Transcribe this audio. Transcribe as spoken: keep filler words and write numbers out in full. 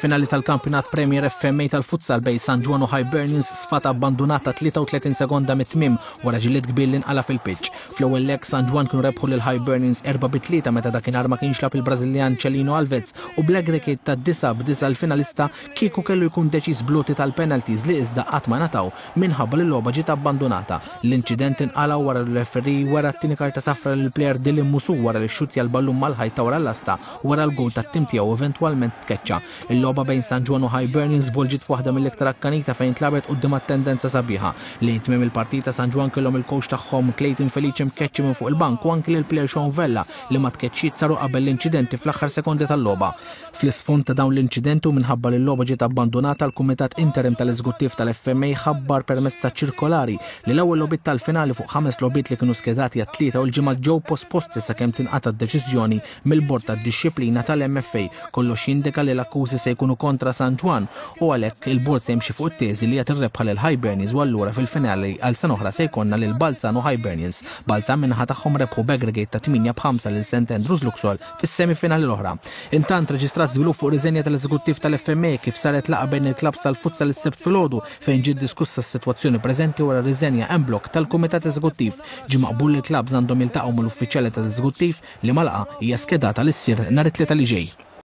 Finali tal-Kampjonat Premier F M A tal-futsal bejn San Ġwann u Hibernians sfat abbandonata tlieta u tletin sekonda mit-tmiem wara ġlied kbir li nqala fil-pitch. Fl-ewwel leg, San Ġwann kienu rebħu lil Hibernians erba' bi tlieta meta dakinhar ma kienx lagħab il-Brażiljan Celino Alves u bl-aggregate ta' disgħa b'disgħa l-finalista kieku kellu jkun deċiż bl-għoti tal-penalties li iżda qatt ma ngħataw minħabba li l-logħba ġiet abbandonata. L-inċident inqala wara li referee wera t-tieni karta safra lill plejer Dylan Musu wara li xxuttja l-ballun mal-ħajt ta' wara l-lasta wara l-gol tat-tim tiegħu, eventwalment tkeċċa. Il-logħba bejn San Ġwann u Hibernians żvolġiet f'waħda mill-iktar akkanita fejn tlagħbet quddiem attendenza sabiħa. Lejn tmiem il-partita, San Ġwann kellhom il-coach tagħhom Clayton Felice mkeċċi minn fuq il-bank u anki l-player Sean Vella li ma tkeċċiet saru qabel l-inċidenti fl-aħħar sekondi tal-logħba. Fl-isfond ta' dawn l-inċidenti u minħabba li l-logħba ġiet abbandonata, l-Kumitat Interim tal-Eżekuttiv tal-F M A ħabbar permezz ta' ċirkolari li l-ewwel logħbiet tal-finali fuq ħames logħbiet li kienu skedati għat-Tlieta u l-Ġimgħa ġew posposti sakemm tinqata' deċiżjoni mill-Bord tad-Dixxiplina tal-M F A. Kollox jindika li l-akkużi se jkunu kontra San Ġwann u għalhekk il-bord se jimxi fuq it-teżi li jagħti rebħa lil Hibernians u allura fil-finali għal sena oħra se jkollna lil Balzan u Hibernians. Balzan min-naħa tagħhom rebħu b'aggregate ta' tmienja b'ħamsa lil Saint Andrews Luxol fis-semifinali l-oħra. Intant, reġistrat żvilupp fuq riżenja tal-eżekuttiv tal-F M A kif saret laqgħa bejn il-klabs tal-futsal is-Sibt filgħodu fejn ġiet diskussa s-sitwazzjoni preżenti wara riżenja en bloc tal-Kumitat Eżekuttiv. Ġie maqbul li l-klabs għandhom jiltaqgħu mal-uffiċjali tal-eżekuttiv, li laqgħa hija skedata li ssir nhar it-Tlieta li ġej.